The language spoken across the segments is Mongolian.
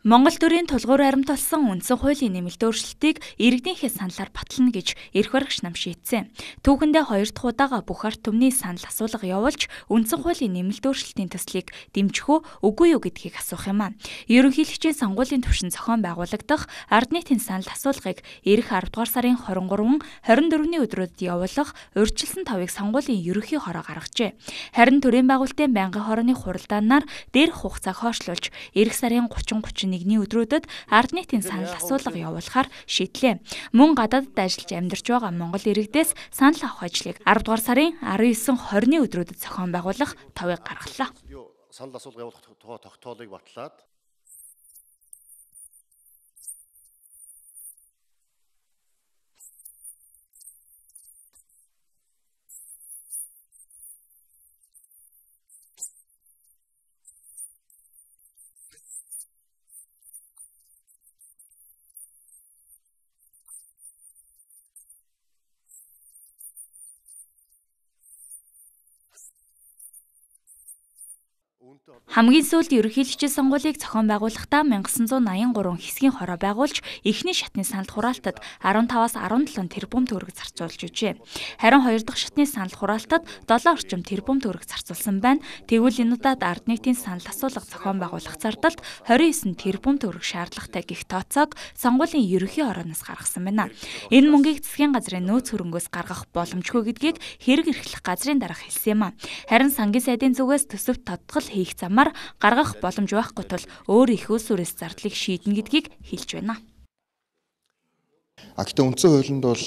Монгол төрийн тулгуур аримтулсан үндсэн хуулийн нэмэлт өөрчлөлтийг иргэдийнхээ саналаар батлана гэж эрх баригч нам шийдсэн. Түүхэндээ 2 дахь удаага бүх ард түмний санал асуулга явуулж үндсэн хуулийн нэмэлт өөрчлөлтийн төслийг дэмжих үгүй юу гэдгийг асуух юм аа. Ерөнхийлөгчийн сонгуулийн түвшин зохион байгуулагдах ард нийтийн санал асуулгыг ирэх 10 дугаар сарын 23, 24-ний өдрүүдэд явуулах урьдчилсан тавыг сонгуулийн ерөнхий хороо гаргажээ. Харин төрийн байгуулалтын байнгын хорооны хуралдаанаар дээрх хугацааг хойшлуулж ирэх сарын 30-31-ний өдрүүдэд ард нийтийн санал асуулга явуулахаар шийдлээ. Мөн гадаадд ажиллаж амьдарч байгаа Монгол иргэдээс санал авах ажлыг 10 дугаар сарын 19-20-ны өдрүүдэд зохион байгуулах тавыг гаргалаа. Санал асуулга явуулах тухай тогтоолыг батлаад Хамгийн сүүлд ерөнхийлөгчийн сонгуулийг зохион байгуулахдаа 1983 хэсгийн хороо байгуулж эхний шатны санал хураалтад 15-аас 17 тэрбум төгрөг зарцуулж өгчээ. Харин 2 дахь шатны санал хураалтад 7 орчим тэрбум төгрөг зарцуулсан байна. Тэгвэл энэ удаад ард нийтийн санал асуулга зохион байгуулах зардалд 29 тэрбум төгрөг шаардлагатай гэх тооцоог сонгуулийн ерөнхий хорооноос гаргасан байна. Энэ мөнгийг засгийн газрын нөөц хөрөнгөөс гаргах боломжгүй гэдгийг хэрэг эрхлэх газрын дарга хэлсэн юм а. Харин сангийн сайдын зүгээс төсөвт тодтгол хийх замаар гаргах боломж байхгүй тул өөр их улс үрэс зардлыг шийднэ гэдгийг хэлж байна. Гэхдээ үндсэн хуулинд бол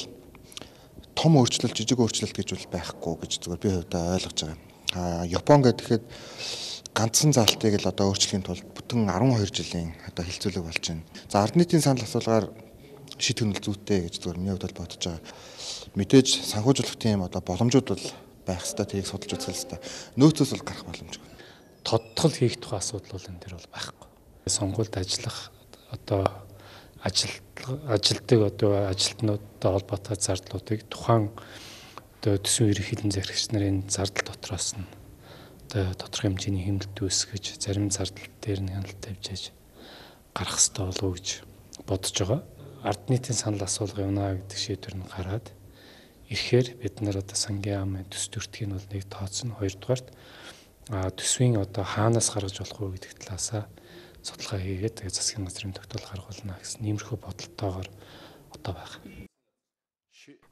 том өөрчлөлт, жижиг өөрчлөлт гэж бол байхгүй гэж зүгээр би хувьдаа ойлгож байгаа. Япон гэхэд ганцхан заалтыг л одоо өөрчлөхийн тулд бүтэн 12 жилийн одоо хилцүүлэг болж байна. За ард нийтийн санал асуулгаар шийдэх нь зүйтэй гэж зүгээр миний хувьд бодож байгаа. Мэдээж санхүүжүүлэх тийм одоо боломжууд бол байх ёстой, тэрийг судалж үзэх ёстой. Нөөцөөс бол гарах боломжгүй. Тодтгол хийх тухай асуудал бол энэ төр бол байхгүй. Сонгуульд ажиллах одоо ажилтдаг одоо ажилтнуудтай холбоотой зардлуудыг тухайн одоо төсвийн ерөнхийлөн захирагч нарын зардал дотроос нь одоо тодорхой хэмжээний хэмнэлт үүсгэж зарим зардал дээр нь хяналт тавьж ээж гарах ёстой болов уу гэж бодож байгаа. Ард нийтийн санал асуулга явна гэдэг шийдвэр нь гараад ирэхээр бид нар одоо сангийн яамын төс төртгийг бол нэг тооцно, хоёрдугаарт төсвийн одоо хаанаас гаргаж болох вэ гэдэг талаасаа судалгаа хийгээд тэгээ засгийн газрын тогтоол гаргуулна гэсэн иймэрхүү бодолтойгоор одоо байна.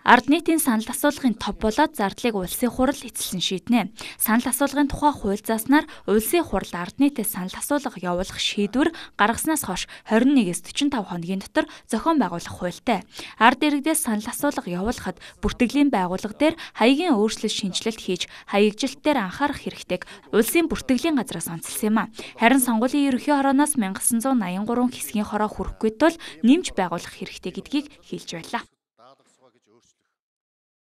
Ард нийтийн санал асуулгын тов болоод зардлыг улсын хурал эцэлсэн шийднэ. Санал асуулгын тухай хууль зааснаар улсын хурал ард нийтэд санал асуулга явуулах шийдвэр гаргаснаас хойш 21-с 45 хоногийн дотор зохион байгуулах хуультай. Ард иргэдээс санал асуулга явуулахад бүртгэлийн байгууллага дээр хаягийн өөрчлөлт шинжилэлт хийж хаягжилт дээр анхаарах хэрэгтэйг улсын бүртгэлийн газраас онцлсан юм а. Харин сонгуулийн ерөнхий хорооноос 1983 хэсгийн хороо хүрэхгүй тул нэмж байгуулах хэрэгтэй гэдгийг хэлж байлаа.